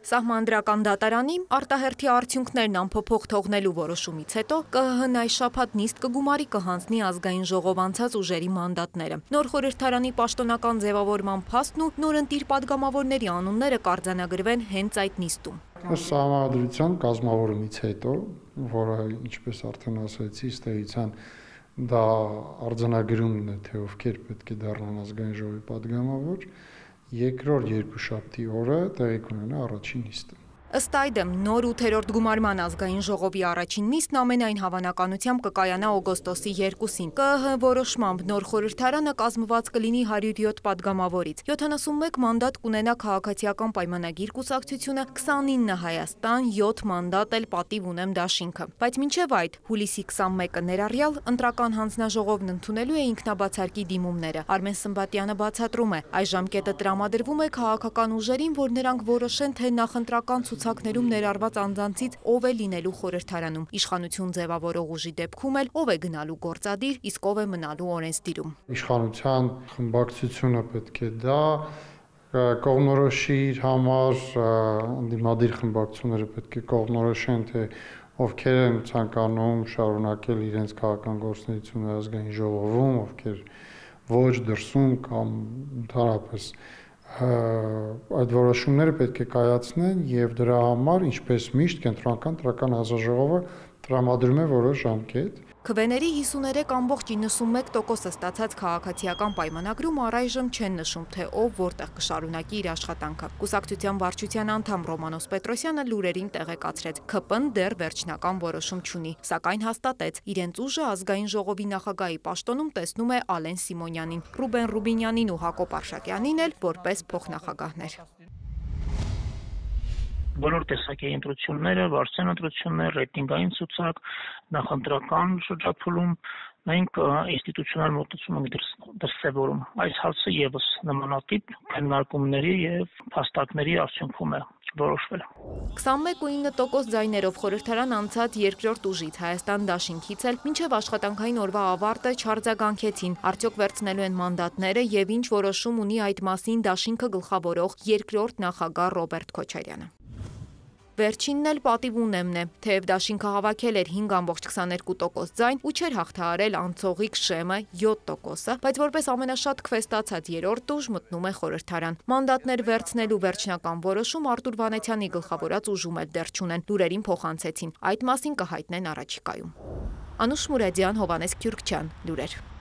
Սահմանադրական դատարանի արտահերթի արդյունքներն անփոփոխ թողնելու որոշումից հետո ԿՀՀ-ն այս շաբաթ նիստ կգումարի կհանձնի ազգային ժողով անցած ուժերի մանդատները։ Նոր խորհրդարանի պաշտոնական ձևավորման փաստն ու նորընտիր падգամավորների անունները կարձանագրվեն հենց այդ նիստում։ Սահմանադրության կազմավորումից հետո, որը ինչպես արդեն ասացի, ստեղծան դա արձանագրումն է, թե ովքեր պետք է դառնան ազգային ժողովի падգամավոր, երկրորդ երկուշաբթի օրը տեղի կունենա առաջին նիստը։ Ըստ այդմ, նոր 8-րդ գումարման ազգային ժողովի առաջին նիստն ամենայն հավանականությամբ կկայանա օգոստոսի 2-ին։ ԿՀ որոշմամբ նոր խորհրդարանը կազմված կլինի 107 падգամավորից, 71 մանդատ կունենա քաղաքացիական պայմանագիր կուսակցությունը, 29 Հայաստան, 7 մանդատ էլ պատիվ ունեմ դաշինքը։ Բայց մինչև այդ, հուլիսի 21-ը ներառյալ ընտրական հանձնաժողովն ընդունելու է ինքնաբացարկի դիմումները։ Արմեն Սմբատյանը բացատրում է, այս ժամկետը տրամադրվում է քաղաքական ուժերին, որ նրանք որոշեն, թե նախընտրական ցուցակներում ներառված անձանցից ով է լինելու խորհրդարանում, իշխանություն ձևավորող ուժի դեպքում էլ ով է գնալու գործադիր, իսկ ով է մնալու օրենսդիրում։ Իշխանության խմբակցությունը պետք է դա կողմնորոշի իր համար, ընդդիմադիր խմբակցությունները պետք է կողմնորոշեն, թե ովքեր են ցանկանում շարունակել իրենց քաղաքական գործունեությունը ազգային ժողովում, ովքեր ոչ դրսում կամ ընդհանրապես այդ որոշումները պետք է կայացնեն եւ դրա համար, ինչպես միշտ, կենտրոնական տրական հանձնաժողովը տրամադրում է որոշ ժամկետ։ Քվեների 53.91%-ը ստացած քաղաքացիական պայմանագրում առայժմ չեն նշում, թե ով որտեղ կշարունակի իր աշխատանքը։ Կուսակցության վարչության անդամ Ռոմանոս Պետրոսյանը լուրերին տեղեկացրեց, ԿՊ-ն դեռ վերջնական որոշում չունի, սակայն հաստատեց, իրենց ուժը ազգային ժողովի նախագահի պաշտոնում տեսնում է Ալեն Սիմոնյանին, Ռուբեն Ռուբինյանին ու Հակոբ Արշակյանին էլ որպես փոխնախագահներ։ Բոլոր տեսակի ընտրությունները, վարչության ընտրություններ, ռեյտինգային ցուցակ, նախընտրական շրջափուլում, մենք ինստիտուցիոնալ մոտեցում ենք դրսևորում։ Այս հարցը եւս նմանատիպ քննարկումների եւ փաստարկների արդյունքում է որոշվել։ 21.9% ձայներով խորհրդարան անցած երկրորդ ուժից Հայաստան դաշինքից էլ մինչև աշխատանքային օրվա ավարտը չարձագանքեցին, արդյոք վերցնելու են մանդատները եւ ինչ որոշում ունի այդ մասին դաշինքը գլխավորող երկրորդ նախագահ Ռոբերտ Քոչարյանը։ Վերջինն էլ պատիվ ունեմն է, թեև դաշինքը հավաքել էր 5.22% ձայն ու չէր հաղթահարել անցողիկ Շեմը 7%-ը, բայց որպես ամենաշատ քվեստացած երրորդ ուժ մտնում է խորհրդարան։ Մանդատներ վերցնելու վերջնական որոշում Արտուր Վանեցյանի գլխավորած ուժում էլ դեռ չունեն, լուրերին փոխանցեցին, այդ մասին կհայտնեն առաջիկայում։ Անուշ Մուրադյան, Հովանես Քյուրքչյան, լուրեր։